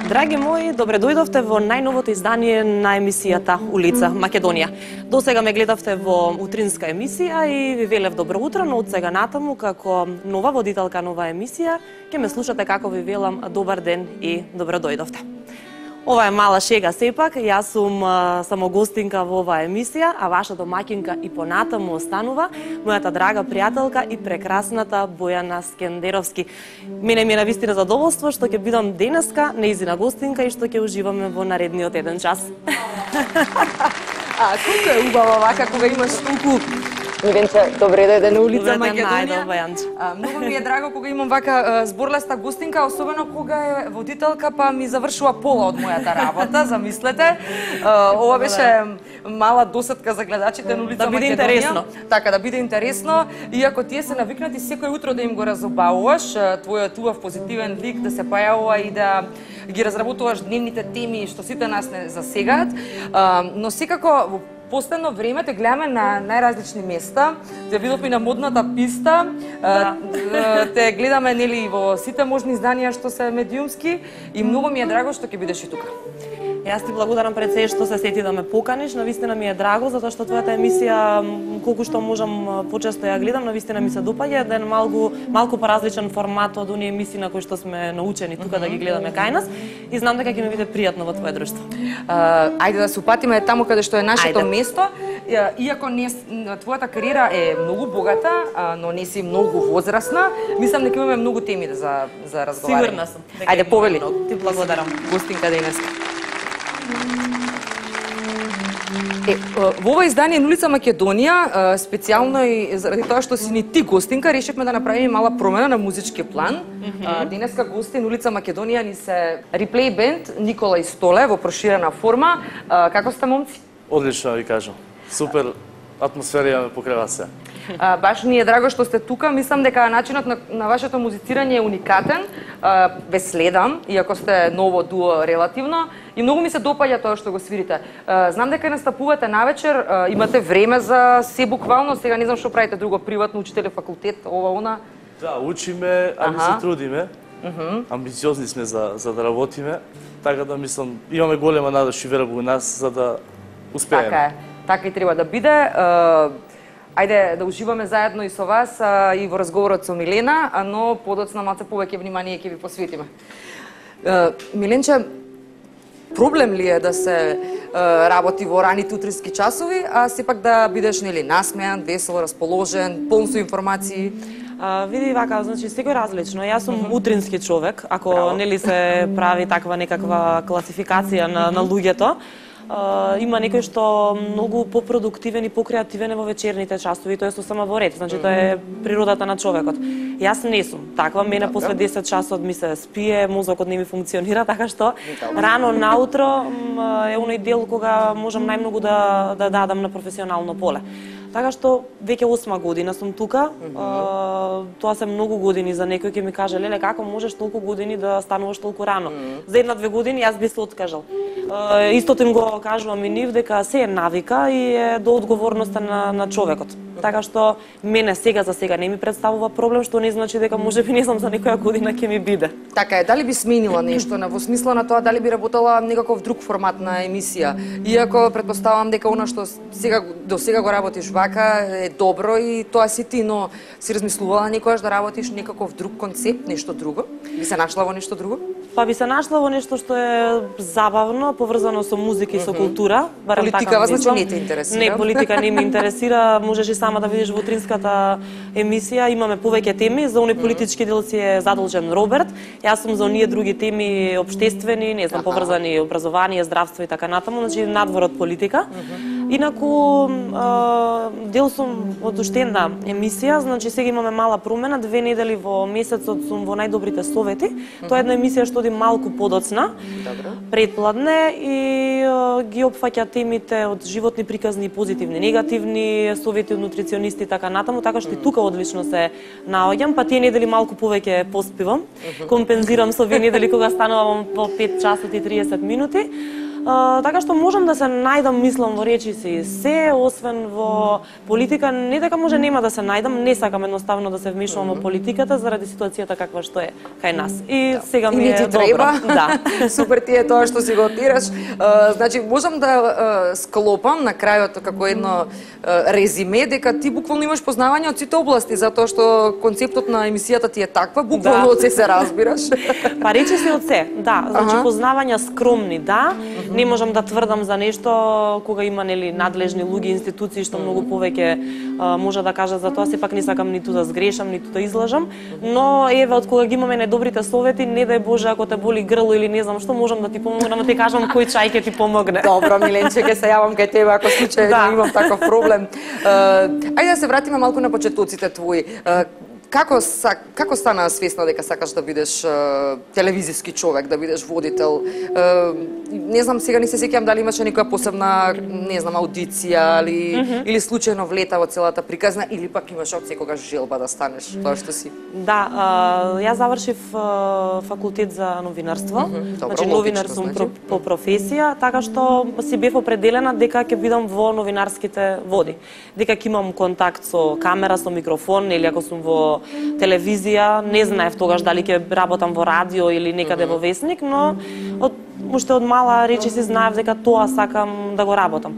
Драги мои, добре дојдовте во најновото издание на емисијата Улица Македонија. До сега ме гледавте во утринска емисија и ви велев добро утро, но од сега натаму како нова водителка на оваа емисија ќе ме слушате како ви велам добар ден и добро дојдовте. Ова е мала шега сепак, јас сум само гостинка во оваа емисија, а вашата домаќинка и понатаму останува мојата драга пријателка и прекрасната Бојана Скендеровски. Мене ми е навистина задоволство што ќе бидам денеска нејзина гостинка и што ќе уживаме во наредниот еден час. Колку е убава вака кога имаш толку Миленче, добре дојде на Улица Македонија. Многу ми е драго кога имам вака зборлеста гостинка, особено кога е водителка па ми завршува пола од мојата работа, замислете. Ова беше мала досетка за гледачите на Улица Македонија. Да биде интересно. Така, да биде интересно. Иако тие се навикнати секој утро да им го разобавуваш, твојот убав позитивен лик да се појавува и да ги разработуваш дневните теми што сите нас не засегаат, но секако во последно време те гледаме на најразлични места. Те видовме на модната писта, те гледаме нели во сите можни изданија што се медиумски и многу ми е драго што ќе бидеш и тука. Јас ти благодарам пред се што се сети да ме поканиш. Навистина ми е драго затоа што твојата емисија колку што можам почесто ја гледам, навистина ми се допаѓа, еден малку поразличен формат од оние емисии на кои што сме научени тука да ги гледаме кај нас и знам дека ќе ми биде пријатно во твое друштво. Ајде да се упатиме таму каде што е нашето место. Иако твојата кариера е многу богата, но не си многу возрастна, мислам дека имаме многу теми за разговарање. Сигурна сум. Ајде повели. Ти благодарам. Гостинка денеска. Во ова издание на Улица Македонија, специјално и заради тоа што си ни ти гостинка, решивме да направиме мала промена на музички план. Денеска гости на Улица Македонија ни се реплей бенд Никола и Столе во проширена форма. Како сте, момци? Одлично ви кажам. Супер атмосфера имаме покрај вас се. Баш ни е драго што сте тука. Мислам дека начинот на вашето музицирање е уникатен. Ве следам, иако сте ново дуо релативно. И многу ми се допаѓа тоа што го свирите. Знам дека настапувате навечер, имате време за се буквално. Сега не знам што правите друго, приватно учителе, факултет, ова, она. Да, учиме, али се трудиме. Амбициозни сме за да работиме. Така да мислам, имаме голема надеж и вера во нас за да успееме. Така е. Така и треба да биде. Ајде да уживаме заедно и со вас и во разговорот со Милена, но подоцна малце повеќе внимание ќе ви посветиме. Миленче, проблем ли е да се работи во раните утрински часови, а сепак да бидеш нели насмеан, весел, расположен, полн со информации? Види вака, значи секој различно. Јас сум утрински човек, ако нели се прави таква некаква класификација на луѓето. Има некој што многу попродуктивен и покреативен во вечерните часови, тоа е сосема во ред, значи тоа е природата на човекот. Јас не сум таква, мене после 10 часот ми се спие, мозокот не ми функционира, така што рано наутро е оној дел кога можам најмногу да дадам на професионално поле. Така што веќе 8 година сум тука. Тоа се многу години за некој ќе ми каже: "Леле, како можеш толку години да стануваш толку рано?" За 1-2 години јас би се откажал. Истото им го кажувам и нив дека се е навика и е до одговорноста на човекот. Така што мене сега за сега не ми представува проблем, што не значи дека можеби не знам за некоја година ќе ми биде. Така е, дали би сменила нешто во смисла на тоа, дали би работела некаков друг формат на емисија? Иако претпоставам дека она што до сега го работиш вака е добро и тоа си ти, но си размислувала некогаш да работиш некаков друг концепт, нешто друго? Би се нашла во нешто друго? Па би се нашла во нешто што е забавно, поврзано со музика и со култура. Политика вас значи не те интересира? Не, политика не ме интересира. Можеш и сама да видиш во утринската емисија, имаме повеќе теми. За оној политички дел си е задолжен Роберт. Јас сум за оние други теми општествени, не знам, поврзани образование, здравство и така натаму, значи надвор од политика. Инаку дел сум од уште една емисија, значи сега имаме мала промена, 2 недели во месецот сум во најдобрите совети. Тоа е една емисија што оди малку подоцна, предпладне и ги опфаќа темите од животни приказни, позитивни, негативни, совети од нутриционисти и така натаму, така што и тука одлично се наоѓам, па тие недели малку повеќе поспивам, компензирам со овие недели кога станувам по 5 часот и 30 минути. Така што можам да се најдам, мислам, во речиси се, освен во политика, не дека може нема да се најдам, не сакам едноставно да се вмешувам во политиката заради ситуацијата каква што е кај нас. И сега ми е добро. Да. Супер ти е тоа што си го отираш. Значи, можам да склопам на крајот како едно резиме дека ти буквално имаш познавање од сите области, затоа што концептот на емисијата ти е таква, буквално од се разбираш. Па речиси од се, да, значи познавања скромни, да. Не можам да тврдам за нешто кога има нели надлежни луѓе, институции што многу повеќе може да кажат за тоа, сепак не сакам ниту да сгрешам, ниту да излажам, но еве од кога ги имаме најдобрите совети, не дај Боже ако те боли грло или не знам што, можам да ти помогнам, да ти кажам кој чај ќе ти помогне. Добро, Миленче, ќе се јавам кај тебе ако случајно имам таков проблем. Ајде да се вратиме малку на почетоците твои. Како стана свесна дека сакаш да бидеш телевизиски човек, да бидеш водител? Не знам, сега не се сеќавам дали имаше некоја посебна, не знам, аудиција или случајно влета во целата приказна, или пак имаш од секогаш желба да станеш тоа што си? Да, јас завршив факултет за новинарство. Значи новинар сум по професија, така што си бев определена дека ќе бидам во новинарските води. Дека ќе имам контакт со камера, со микрофон, или ако сум во телевизија, не знаев тогаш дали ќе работам во радио или некаде во весник, но уште од мала речиси знаев дека тоа сакам да го работам.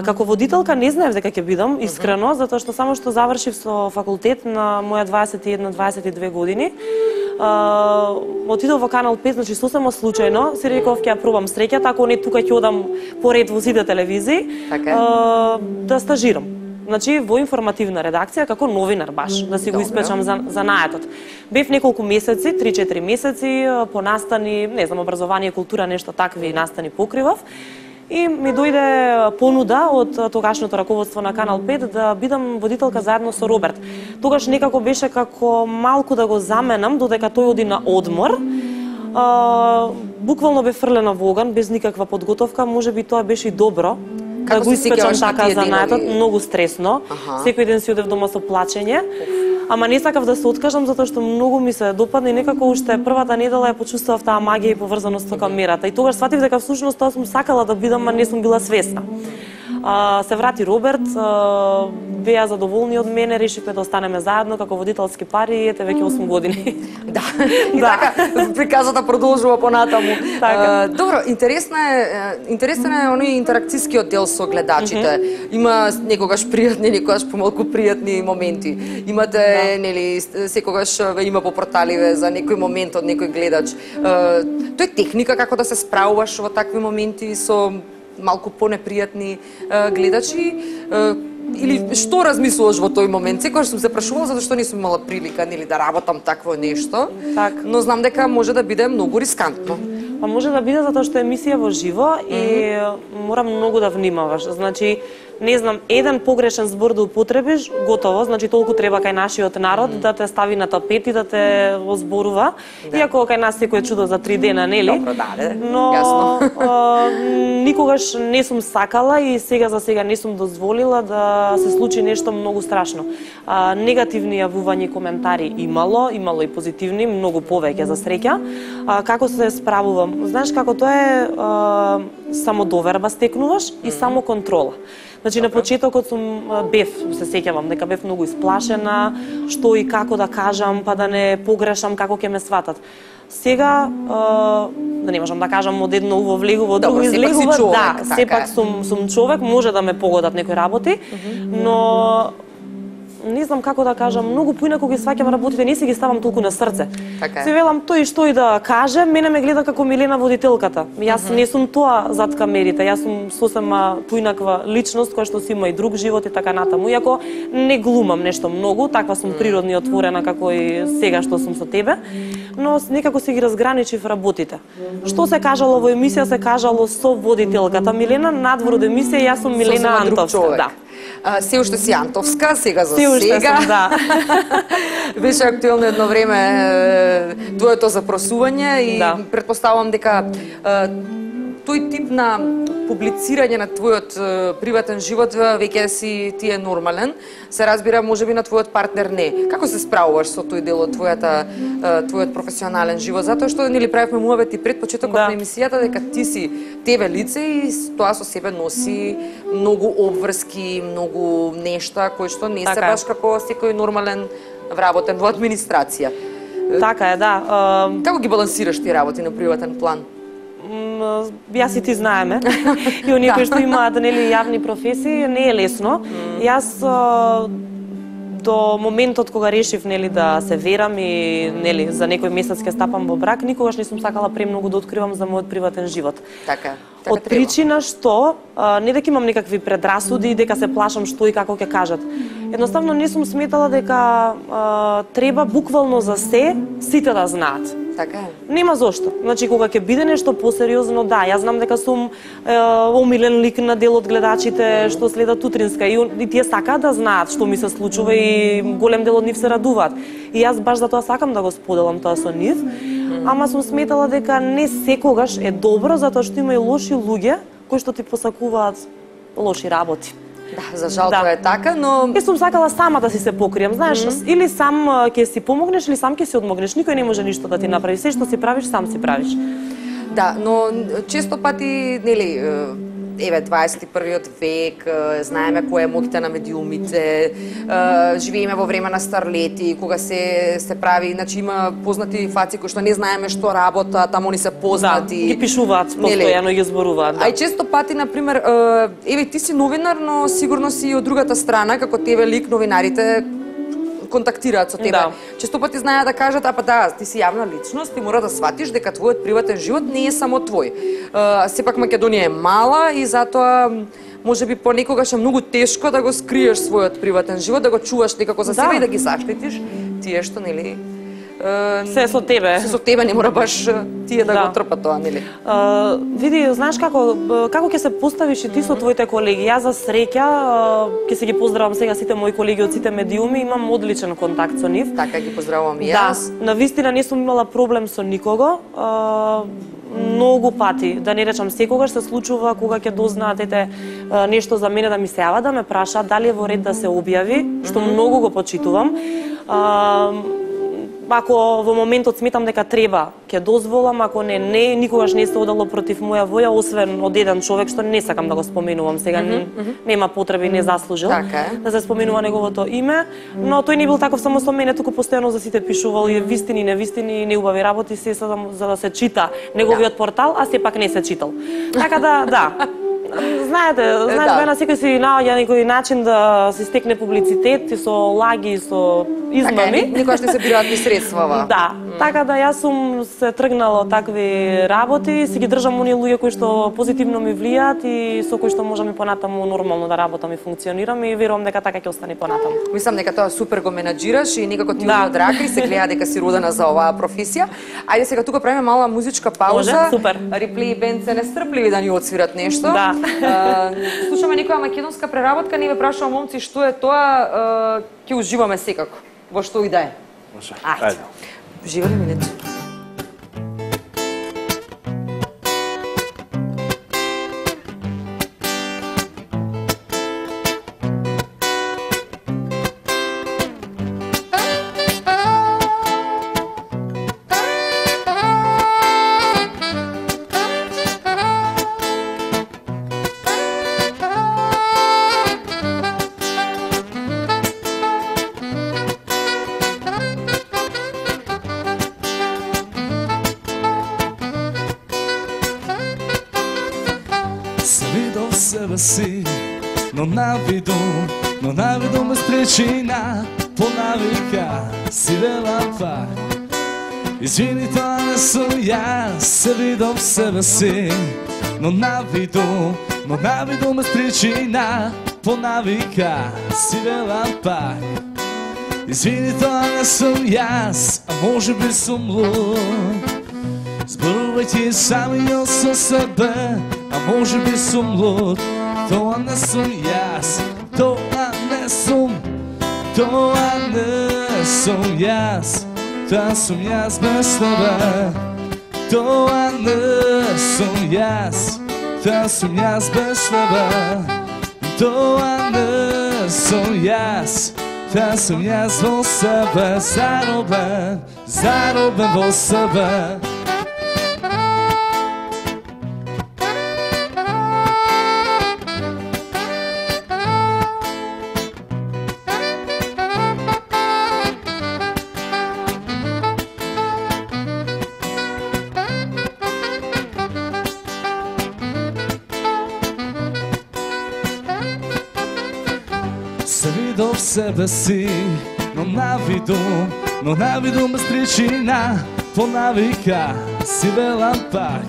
Како водителка не знаев дека ќе бидам, искрено, затоа што само што завршив со факултет на моја 21-22 години, отидов во Канал 5, значи сосема случајно, си реков ќе ја пробам среќата, ако не тука ќе одам поред во сите телевизии, да стажирам. Значи, во информативна редакција, како новинар баш, да си го испечам за наетот. Бев неколку месеци, 3-4 месеци, по настани, не знам, образование, култура, нешто такви настани покривав. И ми дојде понуда од тогашното раководство на Канал 5 да бидам водителка заедно со Роберт. Тогаш некако беше како малку да го заменам, додека тој оди на одмор. Буквално бе фрлена во оган, без никаква подготовка, можеби тоа беше и добро. Да го испечам така за наетот, многу стресно. Секој ден си одев дома со плачење. Ама не сакав да се откажам затоа што многу ми се допадна и некако уште првата недела ја почувствував таа магија и поврзаност со камерата. И тогаш сватив дека всушност тоа сум сакала да бидам, а не сум била свесна. Се врати Роберт, беа задоволни од мене, решивме да останеме заедно како водителски пари, ете веќе 8 години. Да, и така приказата продолжува понатаму. Добро, интересен е оној интеракцијскиот дел со гледачите. Има некогаш пријатни, некогаш помалку пријатни моменти. Имате, нели, секогаш има по порталиве за некој момент од некој гледач. Тоа е техника како да се справуваш во такви моменти со малку понепријатни гледачи, или што размислуваш во тој момент? Секогаш сум се прашувала затоа што не сум имала прилика нели да работам такво нешто, но знам дека може да биде многу рискантно. Па може да биде затоа што е емисија во живо и мора многу да внимаваш. Значи, не знам, еден погрешен збор да употребиш, готово, значи толку треба кај нашиот народ да те стави на тапет и да те озборува. Иако кај нас секој чудо за 3 дена, нели? Добро, но никогаш не сум сакала и сега за сега не сум дозволила да се случи нешто многу страшно. Негативни јавувања и коментари имало и позитивни, многу повеќе за среќа. Како се справувам? Знаеш како тоа е самодоверба стекнуваш и само контрола. Значи на почетокот се сеќавам дека бев многу исплашена, што и како да кажам, па да не погрешам како ќе ме сватат. Сега да не можам да кажам од едно уво влегува, од друго излегува, да, сепак сум човек, може да ме погодат некои работи, но не знам како да кажам, многу поинаку ги сваќам работите, не си ги ставам толку на срце. Така е. Се велам тој што и да каже, мене ме гледа како Милена водителката. Јас не сум тоа зад камерите, јас сум сосема поинаква личност која што си има и друг живот и така натаму. Иако не глумам нешто многу, таква сум природно и отворена како и сега што сум со тебе, но некако се ги разграничив работите. Што се кажало во емисија, се кажало со водителката Милена, надвор од емисија јас сум Милена Антовска. Да. Се уште си Антовска, сега за Се уште сега. сум, да. Беше актуелно едно време твоето запросување и Да. претпоставувам дека тој тип на публицирање на твојот приватен живот веќе си ти е нормален. Се разбира, можеби на твојот партнер не. Како се справуваш со тој дел од твојот професионален живот? Затоа што нели правевме муавет и пред почетокот на емисијата дека ти си тебе лице и тоа со себе носи многу обврски, многу нешта кои што не се баш како секој нормален вработен во администрација. Така е, да. Како ги балансираш ти работи на приватен план? Јас и ти знаеме. И оние кои што имаат нели јавни професии, не е лесно. Јас до моментот кога решив нели да се верам и нели за некој месец ќе стапам во брак, никогаш не сум сакала премногу да откривам за мојот приватен живот. Така. Од причина што не дека имам некакви предрасуди, дека се плашам што и како ќе кажат. Едноставно не сум сметала дека треба буквално за се сите да знаат. Така е. Нема зошто. Значи кога ќе биде нешто посериозно, да, јас знам дека сум омилен лик на дел од гледачите што следат утринска и тие сакаат да знаат што ми се случува и голем дел од нив се радуваат. И јас баш затоа сакам да го споделам тоа со нив. Ама сум сметала дека не секогаш е добро затоа што има и лоши луѓе кои што ти посакуваат лоши работи. Да, за жал тоа е така, но Јас сум сакала сама да си се покријам, знаеш, или сам ќе си помогнеш, или сам ќе си одмогнеш. Никој не може ништо да ти направи, се што си правиш, сам си правиш. да, но често пати, нели, еве 21-виот век, знаеме кој е моќта на медиумите, живееме во време на старлети, кога се прави, значи има познати фаци кои што не знаеме што работат, таму они се познати. Да, ги пишуваат постојано и ги зборуваат. Да. А и често пати, например, еве ти си новинар, но сигурно си и од другата страна, како тебе лик новинарите контактираат со тебе. Да. Често пати знаат да кажат, а па да, ти си јавна личност, ти мора да сватиш дека твојот приватен живот не е само твој. Сепак Македонија е мала и затоа можеби понекогаш е многу тешко да го скриеш својот приватен живот, да го чуваш некако за себе и да ги заштитиш тие што нели се со тебе. Се со тебе не мора баш тие да го трпат тоа, нели? Види, знаеш како ќе се поставиш и ти со твоите колеги. Јас за среќа ќе се ги поздравам сега сите мои колеги од сите медиуми, имам одличен контакт со нив. Така ги поздравувам и јас. Да, навистина не сум имала проблем со никого. Многу пати, да не речам секогаш, се случува кога ќе дознаат нешто за мене да ми се јават, да ме прашаат дали е во ред да се објави, што многу го почитувам. Ако во моментот сметам дека треба, ќе дозволам, ако не, никогаш не се одало против моја воја, освен од еден човек што не сакам да го споменувам сега, нема потреба и не заслужил да се споменува неговото име, но тој не бил таков само со мене, туку постојано за сите пишувал и вистини, невистини, неубави работи се за да се чита неговиот портал, а сепак не се читал. Така да. Знаете, на секој си наоѓа некој начин да се стекне публицитет и со лаги и со измами. Така, никогаш не се бираат ни средствава. Да, така да јас сум се тргнала од такви работи, си ги држам оние луѓе кои што позитивно ми влијаат и со кои што можам и понатаму нормално да работам и функционирам и верувам дека така ќе остане понатаму. Мислам дека тоа супер го менаџираш и некако ти од рака и се гледа дека си родена за оваа професија. Ајде сега тука правиме мала музичка пауза. Може, супер. Реплей бенд се нестрпливи да ни отсвират нешто. Да. Слушаме некоја македонска преработка, не ве прашувам момци што е тоа, ќе уживаме секако. Во што и да е. Може. Ајде. Уживаме минете. Себе си, но на навидом без причина, по навика си велам пак. Извини, тоа не сум јас, се видам в себе си, но навидом без причина, по навика си велам пак. Извини, тоа не сум јас, а може би сум луд. Зборувајќи самиот со себе, а може би сум луд. Тоа не сум јас, тоа не сум јас, тоа сум јас без тебе. Тоа не сум јас, тоа сум јас без тебе. Тоа не сум јас, тоа сум јас во себе. Заробен во себе. Се видов в себе си, но навидум без причина, по навика си велам пак.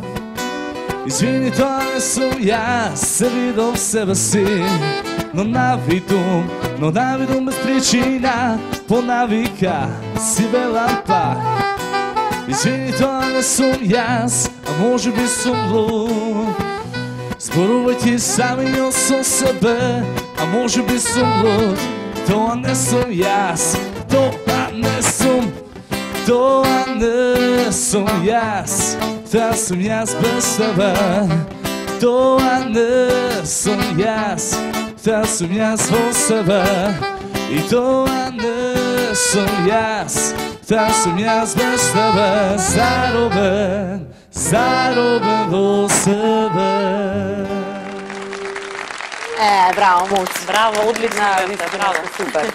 Извини, тоа не сум јас, се видов в себе си, но навидум без причина, по навика си велам пак. Извини, тоа не сум јас, а може би сум луд. Зборувајќи самиот со себе, а може би сум луд. Тоа не сум јас, тоа не сум јас, тоа сум јас без тебе. Тоа не сум јас, тоа сум јас во себе. И тоа не сум јас, тоа сум јас без тебе. Заробен во себе. Браво, моц. Браво, одлично. Браво, супер.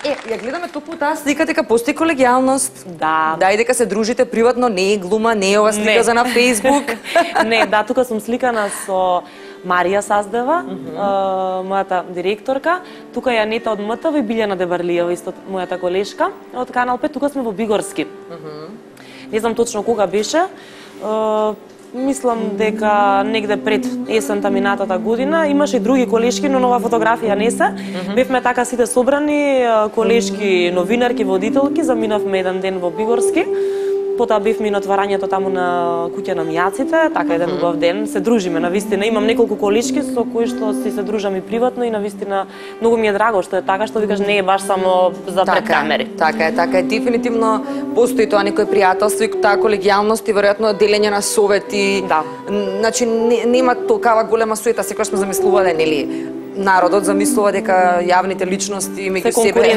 Ја гледаме токму таа слика дека постои колегијалност. Да. Да, и дека се дружите приватно, не е глума, не е ова слика за на Facebook. Не, да, тука сум сликана со Марија Саздева, мојата директорка. Тука е Анета од МТВ и Билјана Дебарлиева, исто мојата колешка од Канал 5. Тука сме во Бигорски. Не знам точно кога беше. Мислам дека негде пред есента минатата година имаше и други колешки, но нова фотографија не се. Бевме така сите собрани, колешки, новинарки, водителки, заминавме еден ден во Бигорски. Потоа бевме и на отварањето таму на куќа на мијаците, така еден убав ден, се дружиме навистина. Имам неколку колешки со кои што се дружам и приватно и навистина многу ми е драго што е така, што викаш не е баш само за пред камери. Така е. Дефинитивно постои тоа некој пријателство и таа колегијалност и веројатно делење на совети. Да. Значи нема толкава голема суета, секогаш сме замислувале, нели? Народот замислува дека јавните личности меѓу себе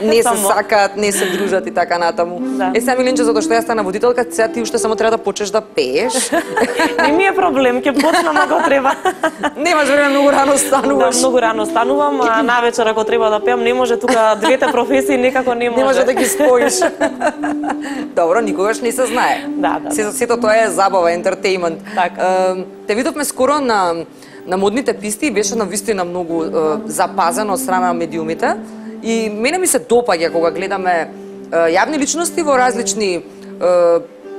не се сакаат, не се дружат и така натаму. Да. Сега Милинче, затоа што ја стана водителка, сега ти уште само треба да почнеш да пееш. Не ми е проблем, ќе почнам ако треба. Немаш време, многу рано стануваш. Да, многу рано станувам, а навечер ако треба да пеам, не може тука двете професии некако не може. Не може да ги споиш. Добро, никогаш не се знае. Да. Сето тоа е забава, ентертејмент. Така. Те видовме скоро на модните писти и беше навистина многу запазено од страна на медиумите. И мене ми се допаѓа кога гледаме јавни личности во различни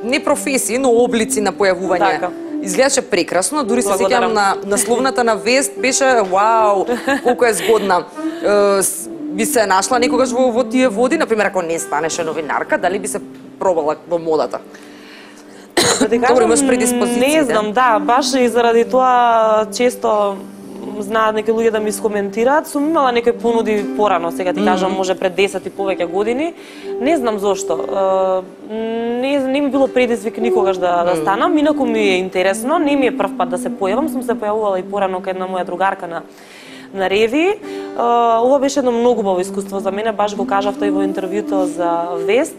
не професии, но облици на појавување. Така. Изгледаше прекрасно, дури се сеќавам на насловната на вест, беше вау, колку е згодна. Би се нашла некогаш во тие води, например, ако не станеше новинарка, дали би се пробала во модата? Добро, имаш предиспозиции. Не знам, да, баш и заради тоа често знаат некои луѓе да ми искоментираат. Сум имала некои понуди порано, сега ти кажам, може пред 10 и повеќе години. Не знам зошто. Не ми било предизвик никогаш да станам, инаку ми е интересно, не ми е прв пат да се појавам, сум се појавувала и порано кај една моја другарка на Реви. Ова беше едно многу убаво искуство за мене, баш го кажав тој во интервјуто за Вест.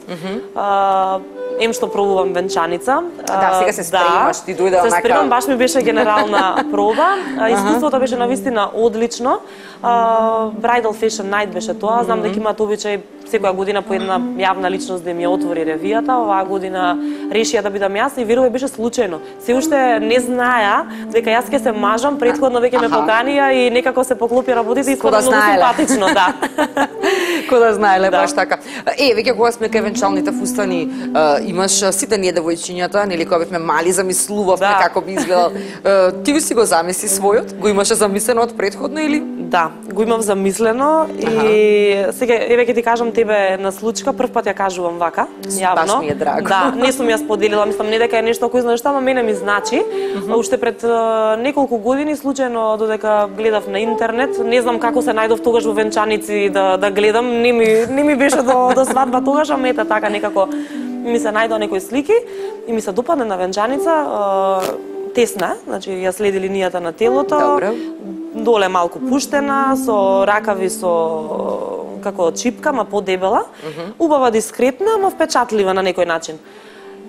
Што пробувам венчаница. Да, сега се спремаш, ти дојде онака. Се спремам, баш ми беше генерална проба. Искуството беше навистина одлично. Bridal Fashion Night беше тоа. Знам дека имаат обичај секоја година по една јавна личност да ми ја отвори ревијата, оваа година решија да бидам јас и верувам беше случајно. Се уште не знаеа дека јас ќе се мажам, претходно веќе ме поканија и некако се поклопи работите и скоро многу симпатично, да. Ко да знаеле, баш така. Веќе кога сме кај венчалните фустани, имаш сите ние девојчињата, нели кога бевме мали замислувавме како би изгледал. Ти си го замисли својот? Го имаше замислено од претходно или? Да, го имав замислено и сега веќе ти кажам тебе на случка, прв пат ја кажувам вака, јавно. Баш ми е драго. Да, не сум ја споделила, мислам не дека е нешто кој знае што, ама мене ми значи. Уште пред неколку години случајно додека гледав на интернет, не знам како се најдов тогаш во венчаници да гледам, не ми беше до свадба тогаш, ама ета така некако ми се најдоа некои слики и ми се допадна на венчаница, тесна, значи ја следи линијата на телото. Добро. Доле малку пуштена, со ракави со како чипка, ма подебела, убава дискретна, ама впечатлива на некој начин.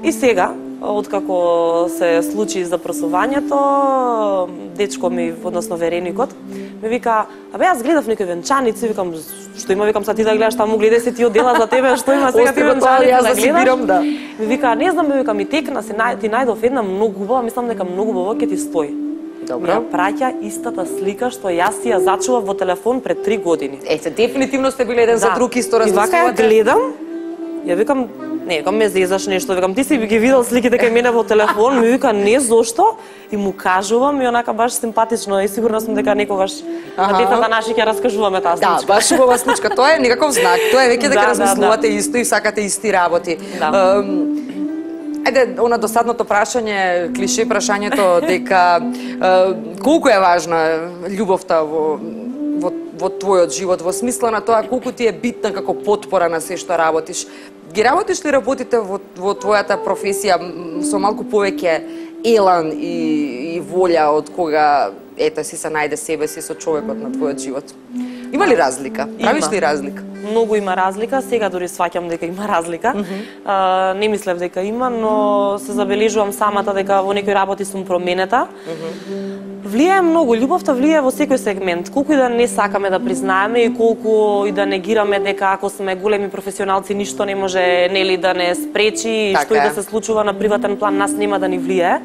И сега, откако се случи запрашувањето, дечко ми, односно вереникот, ми вика, јас гледав некои венчаници, викам, што има, викам, са ти да гледаш таму, гледај се ти оддела за тебе, што има сега ти венчаници да гледаш? Да. Ми вика, не знам, вика, ми текна, ти најдов една многу убава, мислам дека многу убава ќе ти стои. Добро. Ја праќа истата слика што јас си ја зачував во телефон пред 3 години. Ете, дефинитивно сте биле еден за друг исто И размислувате. вака ја гледам, ја викам, не, викам ме зезаш нешто, викам ти си ги видел сликите кај мене во телефон, ми вика не зошто и му кажувам и онака баш симпатично и сигурна сум дека некогаш на децата наши ќе раскажуваме таа случка. Да, баш убава случка, тоа е некаков знак, тоа е веќе дека размислувате исто и сакате исти работи. Ајде, она досадното прашање, клише прашањето дека колку е важна љубовта во твојот живот, во смисла на тоа колку ти е битна како потпора на се што работиш. Ги работиш ли работите во твојата професија со малку повеќе елан и волја од кога ете си се најде себе си со човекот на твојот живот? Има ли разлика? Правиш ли разлика? Многу има разлика, сега дури сваќам дека има разлика. Не мислев дека има, но се забележувам самата дека во некои работи сум променета. Влијае многу, љубовта влијае во секој сегмент. Колку и да не сакаме да признаеме и колку и да негираме дека ако сме големи професионалци ништо не може нели да не спречи и што и да се случува на приватен план нас нема да ни влијае.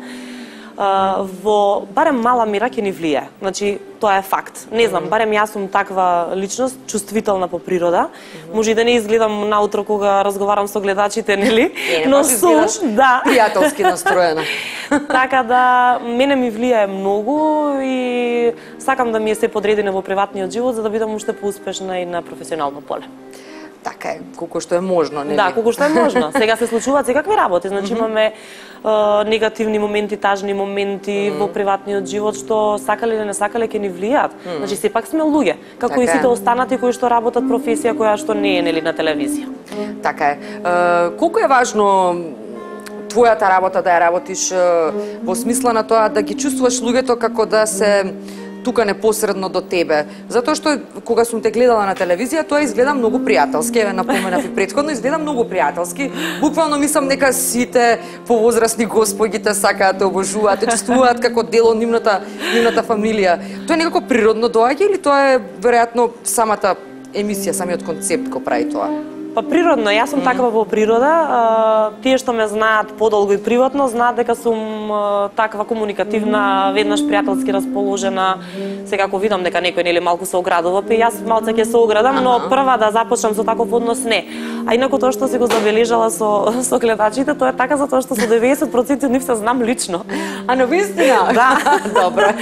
Во барем мала мера ќе ни влијае. Значи тоа е факт. Не знам, барем јас сум таква личност, чувствителна по природа. Може и да не изгледам наутро кога разговарам со гледачите, нели? Но сум, да, пријателски настроена. Така да мене ми влијае многу и сакам да ми е се подредено во приватниот живот за да бидам уште поуспешна и на професионално поле. Така е, колку што е можно, нели? Да, колку што е можно. Сега се случуваат секакви работи, значи имаме негативни моменти, тажни моменти во приватниот живот што сакале или не сакале ќе ни влијаат. Значи сепак сме луѓе, како и сите останати кои што работат професија која што не е нели на телевизија. Така е. Колку е важно твојата работа да ја работиш во смисла на тоа да ги чувствуваш луѓето како да се тука непосредно до тебе. Затоа што кога сум те гледала на телевизија, тоа изгледа многу пријателски, еве напоменав и претходно, изгледа многу пријателски. Буквално мислам нека сите повозрасни господи те сакаат, те обожуваат, те чувствуваат како дел од нивната фамилија. Тоа е некако природно доаѓа или тоа е веројатно самата емисија, самиот концепт го прави тоа? Па природно, јас сум таква во природа. Тие што ме знаат подолго и приватно знаат дека сум таква комуникативна, веднаш пријателски расположена. Сега ако видам дека некој нели малку се оградува, па јас малце ќе се оградам, но прва да започнам со таков однос не. А инаку тоа што си го забележала со гледачите, тоа е така затоа што со 90% од нив се знам лично. А на вистина? Да, добро.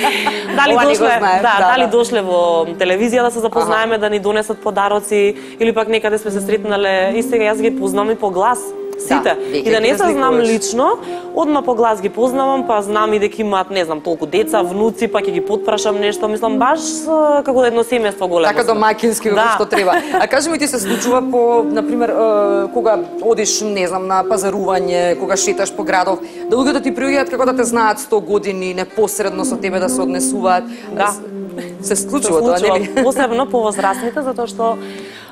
Дали дошле во телевизија да се запознаеме, да ни донесат подароци или пак некаде сме се сретнале и сега јас ги познам и по глас. Сите. И да не се знам лично, одма по глас ги познавам, па знам и дека имаат, не знам, толку деца, внуци, па ќе ги потпрашам нешто, мислам баш како едно семејство големо. Така домаќински како што треба. А кажи ми, ти се случува по, например, кога одиш, не знам, на пазарување, кога шеташ по градов, да луѓето ти приоѓаат како да те знаат 100 години, непосредно со тебе да се однесуваат. Да. Се случува тоа, нели? Посебно по возрастните, затоа што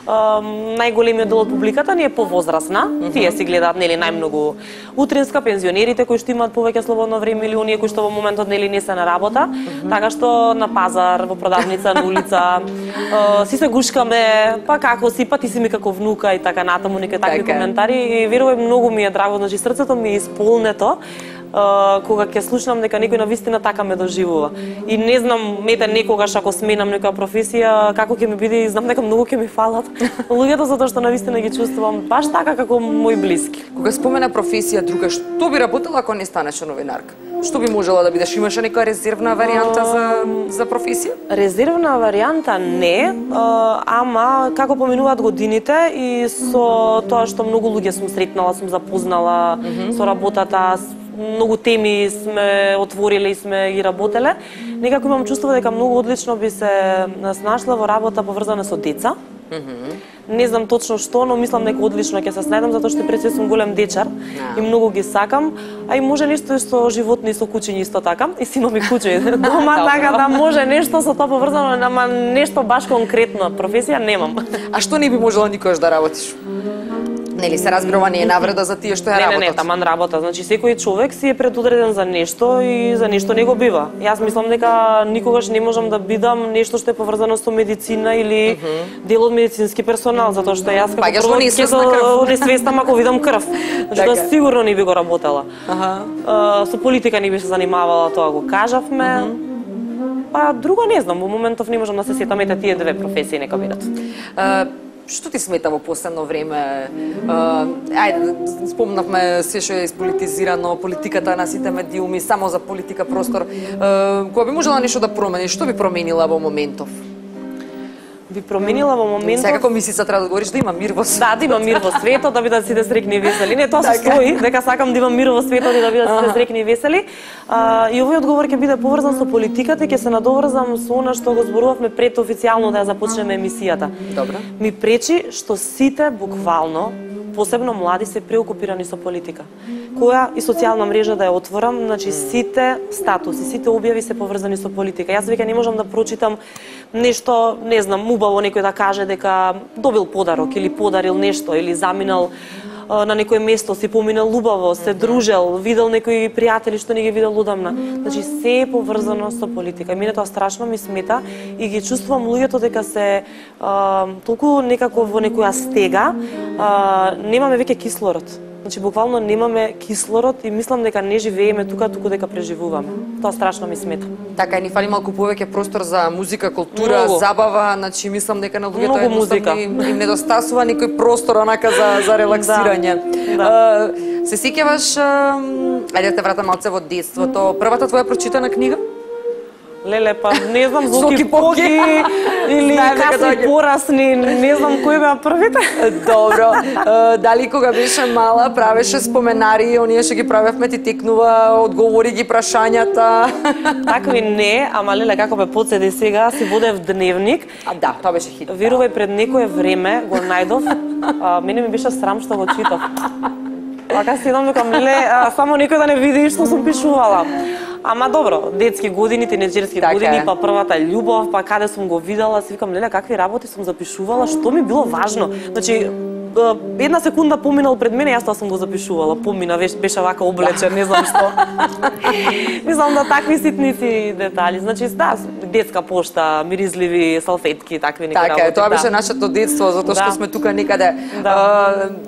најголемиот дел од публиката ни е повозрасна. Тие си гледаат нели најмногу утринска, пензионерите кои што имаат повеќе слободно време или оние кои што во моментот нели не се на работа, така што на пазар, во продавница, на улица, си се гушкаме, па како си, па ти си ми како внука и така натаму, некои такви коментари и верувај многу ми е драго, значи срцето ми е исполнето кога ќе слушнам дека некој навистина така ме доживува. И не знам, мете некогаш ако сменам некоја професија, како ќе ми биде, знам дека многу ќе ми фалат луѓето затоа што навистина ги чувствувам баш така како мои блиски. Кога спомена професија друга, што би работела ако не станеш новинарка? Што би можела да бидеш? Имаше некоја резервна варијанта за професија? Резервна варијанта не, ама како поминуваат годините и со тоа што многу луѓе сум сретнала, сум запознала со работата, многу теми сме отвориле и сме ги работеле, некако имам чувство дека многу одлично би се snašла во работа поврзана со деца. Не знам точно што, но мислам дека одлично ќе се снајдам затоа што пред се сум голем дечар и многу ги сакам, а и може нешто со животни, со кучиња исто така. И си имам и куче дома, така да може нешто со тоа поврзано, ама нешто баш конкретно професија немам. А што не би можела никогаш да работиш? Нели се разбирува не е навреда за тие што ја работат? Не, таман работа. Значи секој човек си е предодреден за нешто и за нешто не го бива. Јас мислам дека никогаш не можам да бидам нешто што е поврзано со медицина или дел од медицински персонал, затоа што јас како прво ќе несвестам ако видам крв. Значи тоа сигурно не би го работела. Со политика не би се занимавала, тоа го кажавме. Па друго не знам, во моментов не можам да се сетам, ете тие две професии нека бидат. Што ти смета во последно време? Ајде, спомнавме се што е ispolitizirano, политиката на сите медиуми, само за политика простор. Кога би можела нешто да промени, што би променила во моментов? Би променила во моментот. Секако мислица треба да говориш да има мир во светот. Да има мир во светот, да бидат сите среќни и весели. Не, тоа се стои, дека сакам да има мир во светот и да бидат сите среќни и весели. И овој одговор ќе биде поврзан со политиката и ќе се надоврзам со она што го зборувавме пред официјално да ја започнеме емисијата. Добро. Ми пречи што сите буквално, посебно млади, се преокупирани со политика. Која и социјална мрежа да ја отворам, значи сите статуси, сите објави се поврзани со политика. Јас веќе не можам да прочитам нешто, не знам, убаво некој да каже дека добил подарок или подарил нешто или заминал на некое место, си поминал убаво, се дружел, видел некои пријатели што не ги видел одамна. Значи се е поврзано со политика. И мене тоа страшно ми смета и ги чувствувам луѓето дека се толку некако во некоја стега, немаме веќе кислород. Значи буквално немаме кислород и мислам дека не живееме тука, туку дека преживуваме. Тоа страшно ми смета. Така, ни фали малку повеќе простор за музика, култура, забава, значи мислам дека на луѓето едноставно им недостасува некој простор онака за релаксирање. Да. Се сеќаваш, ајде да те вратам малце во детството, првата твоја прочитана книга? Леле, па не знам, Зоки Поки или Каси порасни, не знам кои беа првите. Добро. Дали кога беше мала правеше споменари, оние што ги правевме ти текнува, одговори ги прашањата? Такви не, ама леле како ме подседи сега, си водев дневник. Да, тоа беше хит. Верувај, пред некое време го најдов, мене ми беше срам што го читав. Така седам дека леле, само некој да не види што сум пишувала. Ама добро, детски години, тинеџерски години, па првата љубов, па каде сум го видела, си викам, леле, какви работи сум запишувала, што ми било важно. Значи, една секунда поминал пред мене, јас тоа сум го запишувала, помина, беше вака облечен, не знам што. Мислам да такви ситници детали. Значи, да, детска пошта, миризливи салфетки, такви некои работи. Така, тоа беше нашето детство, затоа што сме тука некаде.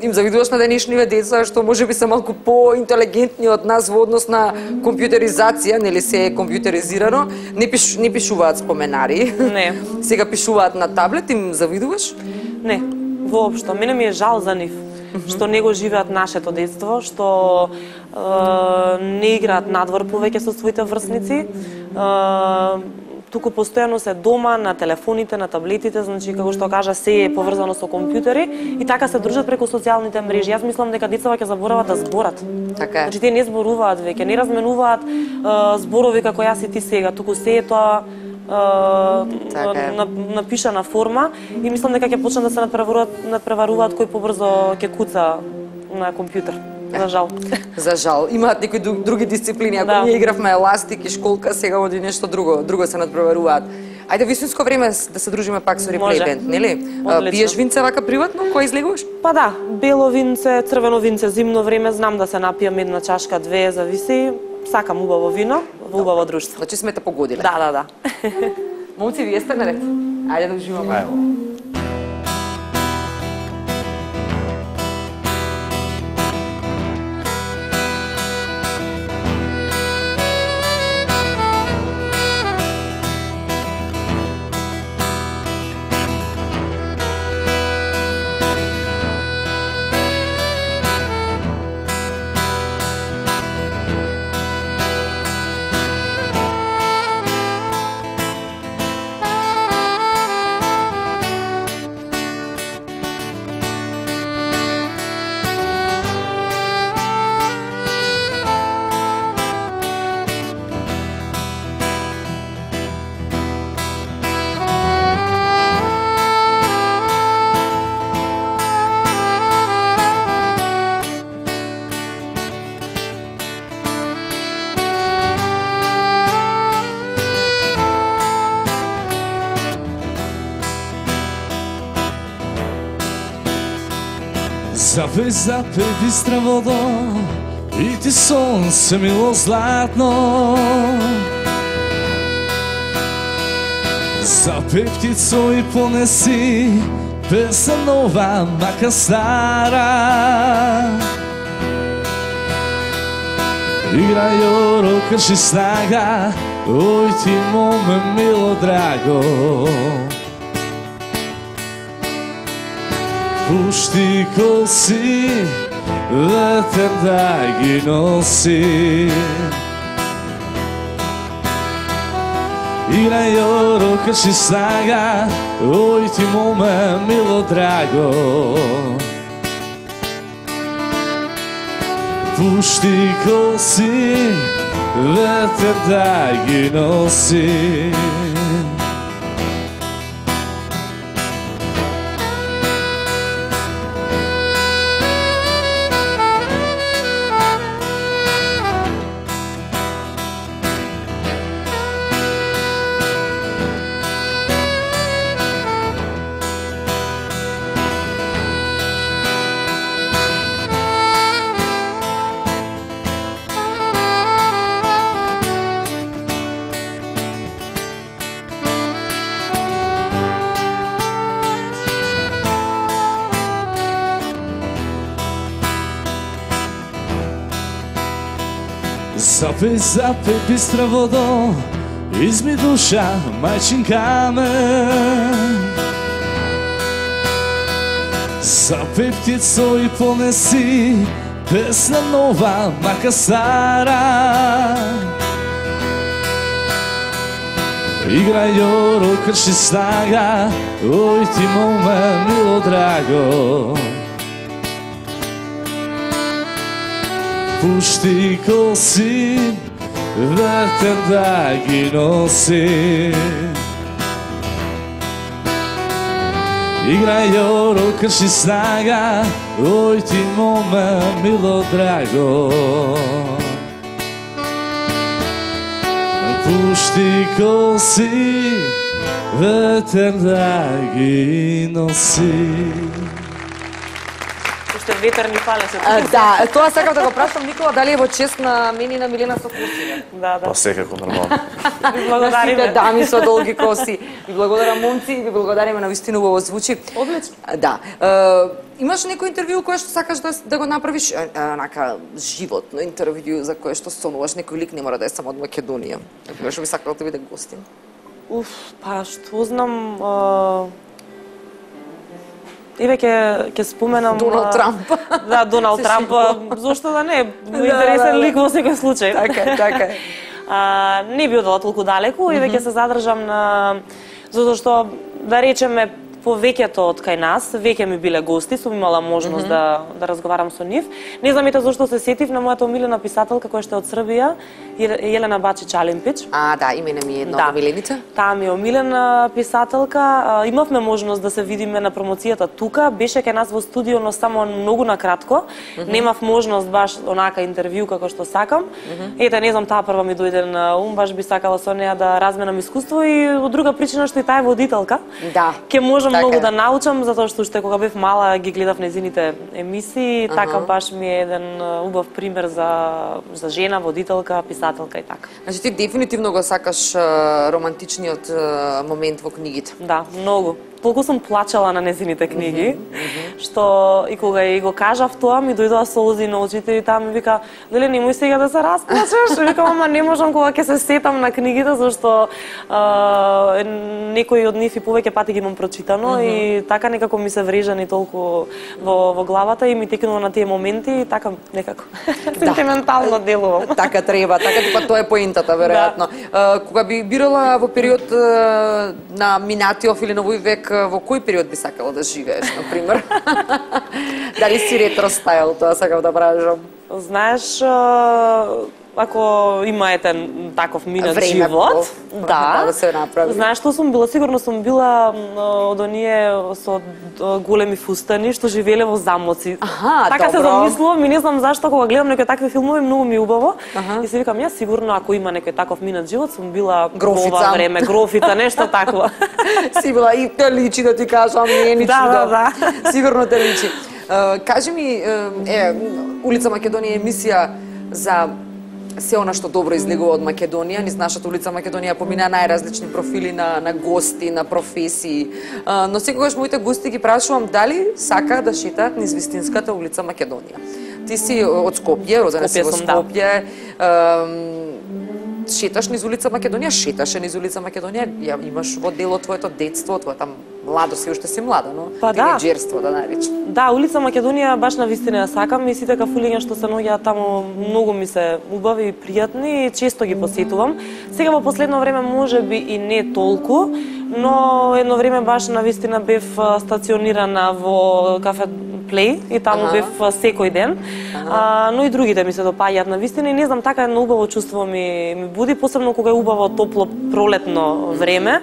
Им завидуваш на денешниве деца што можеби се малку поинтелигентни од нас во однос на компјутеризација, нели се е компјутеризирано, не пишуваат споменари. Не. Сега пишуваат на таблет, им завидуваш? Не, воопшто. Мене ми е жал за нив, што не го живеат нашето детство, што не играат надвор повеќе со своите врсници, туку постојано се дома, на телефоните, на таблетите, значи, како што кажа, се е поврзано со компјутери и така се дружат преку социјалните мрежи. Јас мислам дека децата ќе заборават да зборат. Така е. Значи, тие не зборуваат веќе, не разменуваат зборови како јас и ти сега, туку се е тоа напишана форма и мислам дека ќе почнат да се надпреваруваат кој побрзо ќе куца на компјутер. За жал. За жал. Имаат некои други дисциплини. Ако ние игравме еластик и школка, сега оди нешто друго се надпреваруваат. Ајде вистинско време да се дружиме пак со Реплей Бенд, нели? Одлично. Пиеш винце вака приватно, кој излегуваш? Па да, бело винце, црвено винце, зимно време, знам да се напијам една чашка, две, зависи. Сакам убаво вино, во убаво друштво. Значи сме те погодиле. Да. Момци, вие сте наред. Ајде да уживаме. Запej бистра водо и ти сонце мило златно. Запej птицо и понеси песен нова, мака стара. Играј оро, крши снага, ој ти моме мило драго. Пушти коси, ветер да ги носи. Играј оро, крши снага, ој ти моме мило драго. Пушти коси, ветер да ги носи. Запej бистра водо, изми душа, мајчинка ме. Запej птицо и понеси песна нова, мака стара. Играј оро, крши снага, ој ти моме мило драго. Пушти коси, ветер да ги носи. Играј оро, крши снага, ој ти моме мило драго. Пушти коси, ветер да ги носи. Ветер ни фалеше. Да, тоа сакам да го прашам Никола, дали е во чест на мене и на Милена со коси? Да. Па секако нормално. Ви благодариме. На сите дами со долги коси. Ви благодарам момци, ви благодариме, на вистина убаво звучи. Одлично. Да. Имаш некој интервју кое што сакаш да го направиш, онака животно интервју за кое што сонуваш, некој лик не мора да е само од Македонија. Кој што би сакал да биде гостин? Па што знам, еве ќе споменам Доналд Трамп. Да, Доналд Трамп, зошто да не, интересен лик во секој случај. Така. Не би одела толку далеку, еве ќе се задржам на затоа што да речеме повеќето од кај нас веќе ми биле гости, сум имала можност да разговарам со нив. Не знам ете зашто се сетив на мојата омилена писателка која што е од Србија, Елена Бачич-Алимпич. Да, имене ми е една од омилените. Таа ми е омилена писателка. Имавме можност да се видиме на промоцијата тука. Беше кај нас во студио, но само многу накратко. Немав можност баш онака интервју како што сакам. Ете, не знам, таа прва ми дојде на ум, баш би сакала со неа да разменам искуство и од друга причина што и таа е водителка. Да. Ке можам многу да научам, затоа што уште кога бев мала ги гледав незините емисии, така баш ми е еден убав пример за жена водителка, писателка и така. Значи ти дефинитивно го сакаш романтичниот момент во книгите. Да, многу. Толку сум плачала на незините книги, што и кога и го кажав тоа, ми дојдоа солзи на очите и таа ми вика, дали немој сега да се расплачеш? Викам, ама не можам кога ќе се сетам на книгите, зашто некои од нив и повеќе пати ги имам прочитано и така некако ми се врежани толку во главата и ми текнува на тие моменти и така некако сентиментално делувам. Така треба, така тоа е поентата веројатно. Кога би бирала во период на минатиот или новој век, во кој период би сакала да живееш, например? Дали си ретро стайл, тоа сакам да прашам. Знаеш, ако имаете таков минат живот, да се направи. Знаеш што сум била? Сигурно сум била од оние со големи фустани што живееле во замоци. Така се замислувам и не знам зашто кога гледам некои такви филмови многу ми убаво и се викам ја сигурно ако има некој таков минат живот сум била ова време грофица, нешто такво. Си била и те личи да ти кажам, не е ни чудо. Да. Сигурно те личи. Кажи ми, Улица Македонија емисија за се она што добро излегува од Македонија. Низ нашата Улица Македонија помина најразлични профили на гости, на професии. Но секогаш моите гости ги прашувам дали сака да шетаат низ вистинската Улица Македонија. Ти си од Скопје, родена си во Скопје. Шеташ низ Улица Македонија, шеташе низ Улица Македонија, ја имаш во дело твоето детство, твојата младост, си уште си млада, но тинеџерство да наречам. Да, Улица Македонија баш на вистина ја сакам и сите кафулиња што се наоѓаат таму многу ми се убави и пријатни и често ги посетувам. Сега во последно време можеби и не толку, но едно време баш на вистина бев стационирана во кафе Плей и таму бев секој ден. Но и другите ми се допаѓаат на вистина и не знам, така едно убаво чувство ми буди, посебно кога е убаво топло пролетно време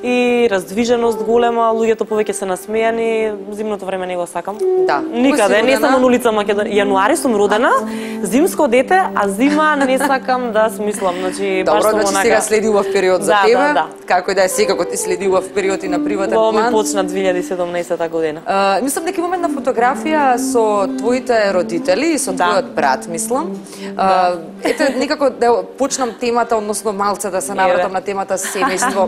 и раздвиженост голема, луѓето повеќе се насмејани, зимното време не го сакам. Да. Никаде, не само на Улица Македонија. Јануари сум родена, зимско дете, а зима не сакам да смислам. Значи баш сум онака. Сега следи убав период за тебе. Да. Како и да е сега кога ти следи убав период и на приватен план. Во ми почна 2017 година. Мислам дека имаме една фотографија со твоите родители и со твојот брат, мислам. Ете некако да почнам темата, односно малце да се навратам на темата семејство.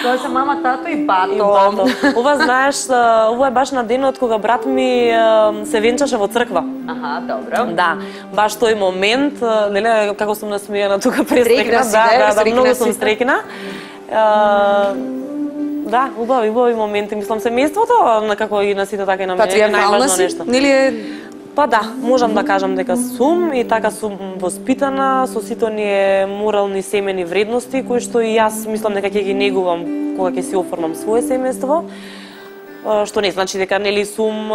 Тоа се мама, тато и бато. Ова знаеш, ова е баш на денот кога брат ми се венчаше во црква. Добро. Да, баш тој момент, нели како сум насмејана тука престрекна, да, многу сум стрекна. Да, убави моменти, мислам семејството, како и на сите така и на мене, најважно нешто. Нели е Па да, можам да кажам дека сум и така сум воспитана со сите оние морални семени вредности кои што и јас мислам дека ќе ги негувам кога ќе си оформам свое семејство. Што не значи дека нели сум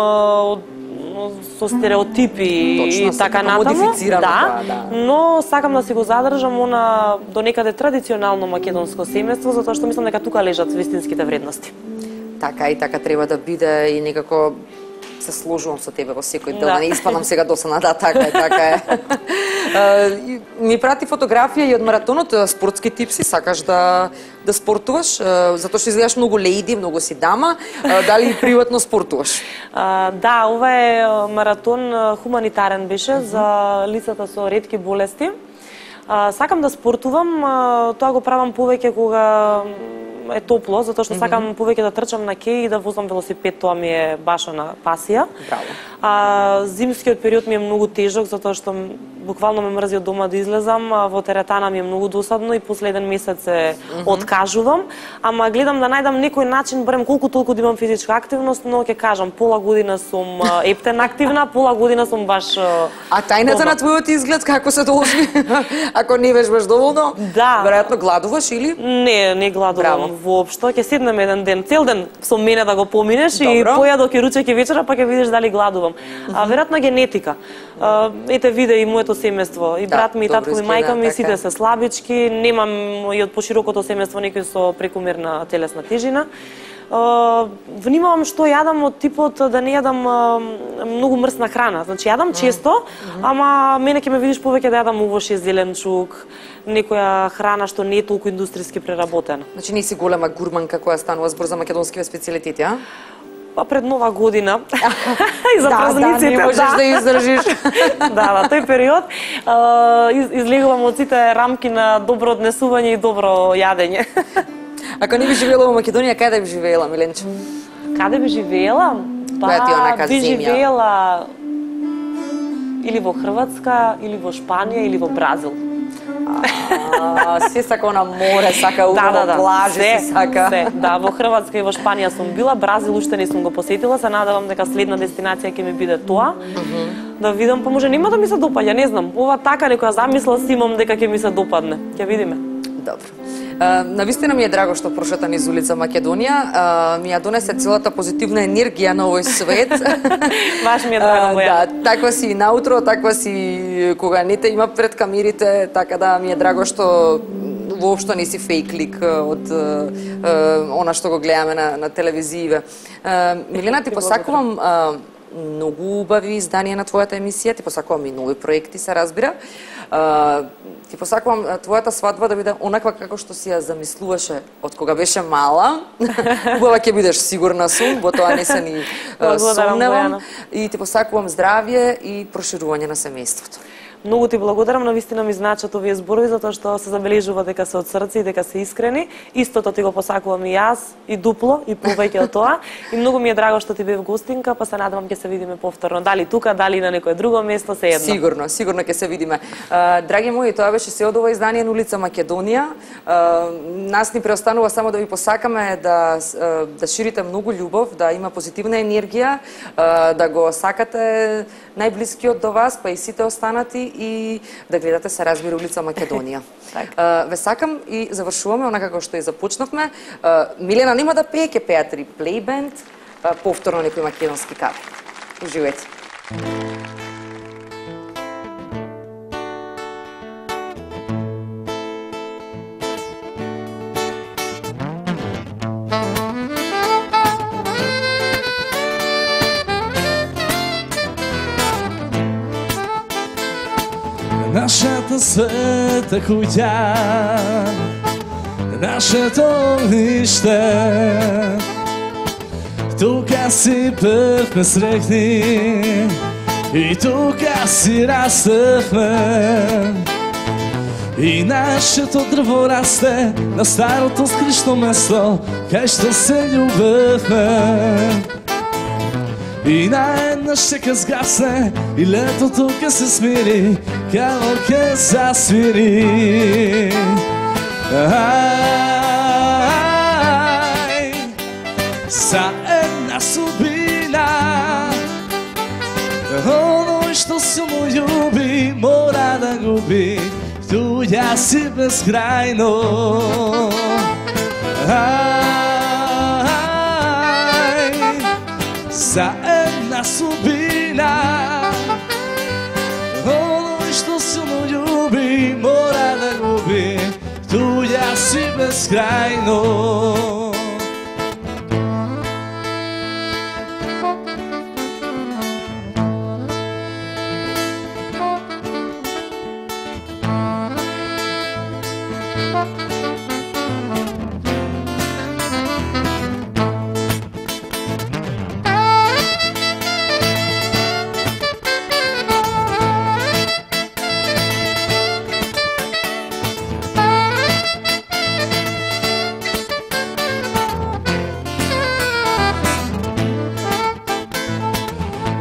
со стереотипи и така натаму. Да, но сакам да си го задржам она до некаде традиционално македонско семејство, затоа што мислам дека тука лежат вистинските вредности. Така и така треба да биде и некако се сложувам со тебе во секој дел, да не испадам сега досадна, да, така е. Ми прати фотографија и од маратонот, спортски типси, сакаш да спортуваш, затоа што изгледаш многу лејди, многу си дама, дали и приватно спортуваш? Да, ова е маратон хуманитарен беше за лицата со ретки болести. Сакам да спортувам, тоа го правам повеќе кога е топло, затоа што сакам повеќе да трчам на кеј и да возам велосипед, тоа ми е баш на пасија. Браво. А зимскиот период ми е многу тежок затоа што буквално ме мрзи од дома да излезам, во теретана ми е многу досадно и последен месец се откажувам, ама гледам да најдам некој начин, барем колку толку да имам физичка активност, но ќе кажам, пола година сум ептен активна, пола година сум баш А тајната на твојот изглед како се должи? Ако не вежбаш доволно, да, веројатно гладуваш или? Не гладувам воопшто, ќе седнем еден ден, цел ден со мене да го поминеш и појадо ќе ручек и вечера, па ќе видиш дали гладувам. А веројатно генетика. Ете виде и моето семејство, и брат ми, и татко ми, мајка ми, сите се слабички, немам и од поширокото семејство некој со прекумерна телесна тежина. Внимавам што јадам од типот да не јадам многу мрсна храна. Значи јадам често, ама мене ќе ме видиш повеќе да јадам овоше, зеленчук, некоја храна што не е толку индустријски преработена. Значи не си голема гурманка која станува збор за македонскиве специјалитети, а? Па пред Нова година и за празниците. Да, не можеш да издржиш. Да, тој период излегувам од сите рамки на добро однесување и добро јадење. Ако не би живеела во Македонија, каде би живеела, Миленче? Каде би живеела? Која ти е онака би земја? живеела или во Хрватска, или во Шпанија, или во Бразил. Се сака на море, сака убаво плажи, се сака. Се, да, во Хрватска и во Шпанија сум била, Бразил уште не сум го посетила, се надевам дека следна дестинација ќе ми биде тоа. Да видам, па може нема да ми се допаѓа, не знам. Ова така некоја замисла си имам дека ќе ми се допадне. Ќе видиме. Добро. Навистина ми е драго што прошета низ улица Македонија, ми ја донесе целата позитивна енергија на овој свет. Баш ми е драго, да, таква си и наутро, таква си кога не те има пред камерите, така да ми е драго што воопшто не си фейк лик од она што го гледаме на телевизијиве. Милена, ти посакувам многу убави изданија на твојата емисија, ти посакувам и нови проекти, се разбира. Ти посакувам твојата свадба да биде онаква како што си ја замислуваше од кога беше мала. Убава ќе бидеш, сигурна сум, во тоа не се ни сомневам. И ти посакувам здравје и проширување на семејството. Многу ти благодарам, навистина ми значат овие зборови затоа што се забележува дека се од срце и дека се искрени. Истото ти го посакувам и јас, и дупло, и повеќе од тоа. И многу ми е драго што ти бев гостинка, па се надевам ќе се видиме повторно. Дали тука, дали на некое друго место, се едно. Сигурно ќе се видиме. Драги мои, тоа беше се од ова издание на улица Македонија. Нас ни преостанува само да ви посакаме да ширите многу љубов, да има позитивна енергија, да го сакате најблискиот до вас, па и сите останати, и да гледате, се разбира, улица Македонија. Ве сакам и завршуваме онака како што и започнавме. Милена нема да пее, ќе пеат Реплей бенд, повторно некој македонски кавер. Уживајте. Нашата света куќа, нашето огниште, тука си бевме срекни и тука си растевме. И нашето дрво расте на старото скришно место, кај што се љубевме. И наеднаш ќе згасне и летото ќе се смири, како ќе засвири. За една субина, оној што се му љуби мора да губи, туѓа си безкрајно. За една субина, оној што се му љуби мора да губи, туѓа си безкрајно.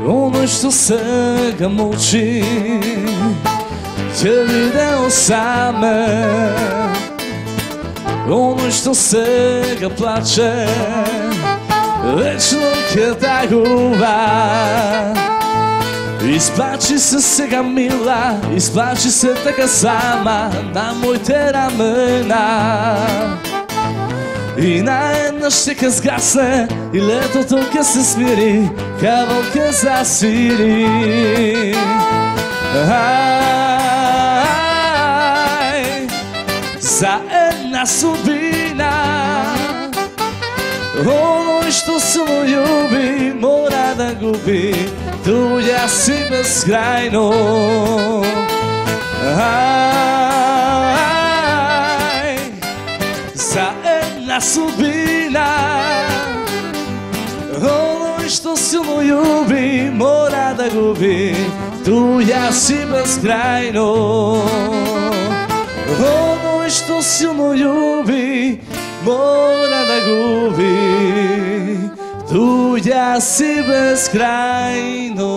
Оно што сега молчи ќе видео саме. Оно што сега плаче вечно ќе тагува. Исплачи се сега мила, исплачи се така сама на моите рамена. И наеднаш ќе згасне и летото ќе се смири, кавал ќе засири. Ај, за една судбина, оној што само љуби мора да губи, туѓа си безкрајно. Ај, за една судбина, оној што силно љуби мора да губи, туѓа си безкрајно. Оној што силно љуби мора да губи, туѓа си безкрајно.